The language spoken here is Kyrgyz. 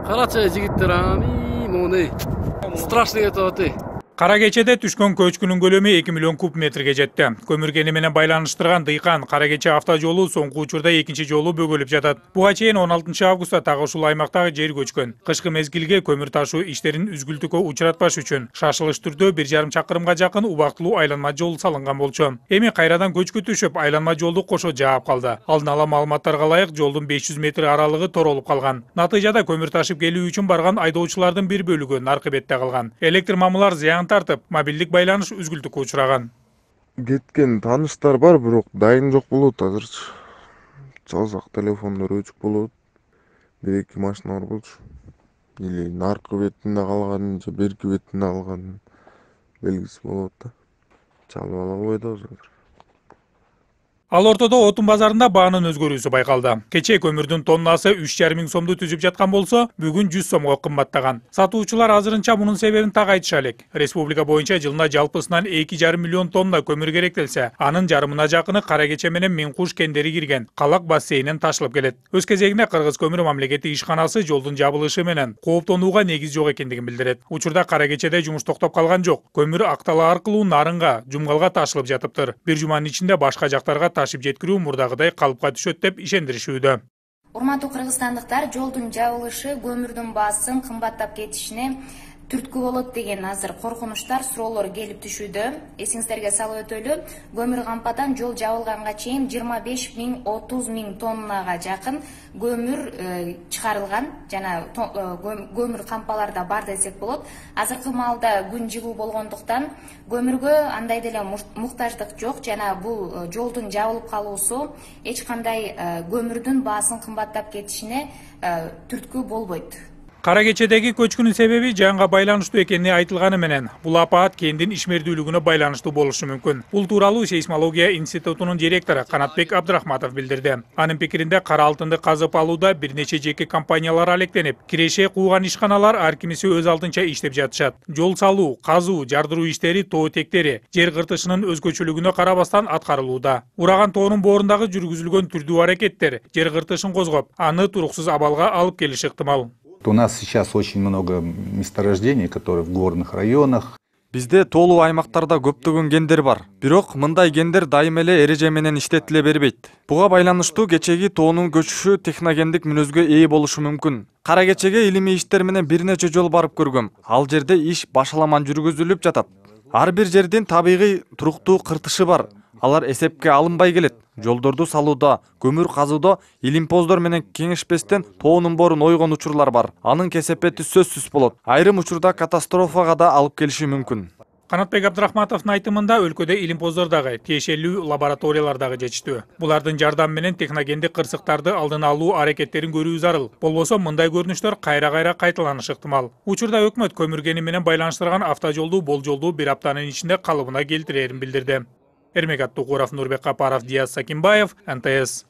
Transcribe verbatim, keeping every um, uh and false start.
Карачы жигиттер ами моны страшный этеп атты. Кара кечеде түшкөн көчкүнүн көлөмү эки миллион куб метрге жетти. Көмүр кени менен байланыштырган Дыйкан Кара кече автожолу соңку учурда экинчи жолу бөгөлүп жатат. Буга чейин он алтынчы августта так ушул аймактагы жер көчкөн. Кышкы мезгилге көмүр ташуу иштерин үзгүлтүккө учуратпаш үчүн шашылыш түрдө бир жарым чакырымга жакын убактылуу айланма жол салынган болчу. Эми кайрадан көчкү түшүп, айланма жолду кошо жаап калды. Алдын ала маалыматтарга ылайык жолдун беш жүз метр аралыгы торолуп калган. Натыйжада көмүр ташып келүү үчүн барган айдоочулардын бир бөлүгү наркы бетте калган. Электр мамылар зыян тартып, мобилдик байланыш үзгүлтүккө учураган. Кеткен тааныштар бар, бирок дайын жок болот азырчы. Чалсак телефондор өчүк болот. Бир эки машина бар болчу. Или наркы бетинде калган, же берки бетинде калган белгиси болот да. Чалып ала албайт азыр. Ал ортодо отун базарында баанын өзгөрүүсү байкалды. Кече көмүрдүн тоннасы үч жарым миң сомду түзүп жаткан болсо, бүгүн жүз сомго кымбаттаган. Сатуучулар азырынча мунун себебин так айтыша элек. Республика боюнча жылына жалпысынан эки жарым миллион тонна көмүр керектелсе, анын жарымына жакыны Кара кече менен Миң Куш кендери кирген Калак бассейнинен ташылып келет. Өз кезегинде Кыргыз көмүр мамлекеттик ишканасы жолдун жабылышы менен кооптонууга негиз жок экендигин билдирет. Учурда Кара кечеде жумуш токтоп калган жок. Көмүр Актала аркылуу Нарынга, Жумгалга ташылып жатыптыр. Бир жуманын ичинде башка жактарга ташып жеткирүү мурдагыдай калыпка түшөт деп ишендиришүүдө. Урматтуу кыргызстандыктар, жолдун жабылышы көмүрдүн баасын кымбаттап кетишине түрткү болот деген азыр коркунучтар, суроолор келип түшүүдө. Эсиңиздерге салып өтөлү, көмүр кампадан жол жабылганга чейин жыйырма беш миң отуз миң тоннага жакын көмүр чыгарылган, жана көмүр кампаларда бар десек болот. Азыркы маалда күн жылуу болгондуктан көмүргө андай деле муктаждык жок, жана бул жолдун жабылып калуусу эч кандай көмүрдүн баасын кымбаттап кетишине түрткү болбойт. Кара кечедеги көчкүнүн себеби жанга байланыштуу экени айтылганы менен, бул апаат кендин ишмердүүлүгүнө байланыштуу болушу мүмкүн. Бул тууралуу Сейсмология институтунун директору Канатбек Абдрахматов билдирди. Анын пикиринде кара алтынды казып алууда бир нече жеке компаниялар алектенип, киреше кууган ишканалар ар кимиси өз алдынча иштеп жатышат. Жол салуу, казуу, жардыруу иштери тоо тектери жер кыртышынын өзгөчөлүгүнө карабастан аткарылууда. Ураган тоонун боорундагы жүргүзүлгөн түрдүү аракеттер жер кыртышын козгоп, аны туруксуз абалга алып келиши ыктымал. У нас сейчас очень много месторождений, которые в горных районах. Бизде тоолуу аймактарда көптөгөн кендер бар. Бирок мындай кендер дайым эле эреже менен иштетиле бербейт. Буга байланыштуу кечеги тоонун көчүшү техногендик мүнөзгө ээ болушу мүмкүн. Кара кечеге илимий иштер менен бир нече жолу барып көргөм. Ал жерде иш башаламан жүргүзүлүп жатат. Ар бир жердин табигый туруктуу кыртышы бар. Алар эсепке алынбай келет. Жолдорду салууда, көмүр казууда илимпоздор менен кеңешпестен тоонун борун ойгон учурлар бар. Анын кесепети сөзсүз болот. Айрым учурда катастрофага да алып келиши мүмкүн. Канатбек Абдрахматовдун айтымында өлкөдө илимпоздор дагы, тиешелүү лабораториялар дагы жетиштүү. Булардын жардамы менен техногендик кырсыктарды алдын алуу аракеттерин көрүү зарыл. Болбосо мындай көрүнүштөр кайра-кайра кайталанышы ыктымал. Учурда өкмөт көмүр кени менен байланыштырган автожолду болжолдуу бир аптанын ичинде калыбына келтирерин билдирди. Эрмек Аттукуров, Нурбек Капаров, Диас Сакимбаев, эн тэ эс.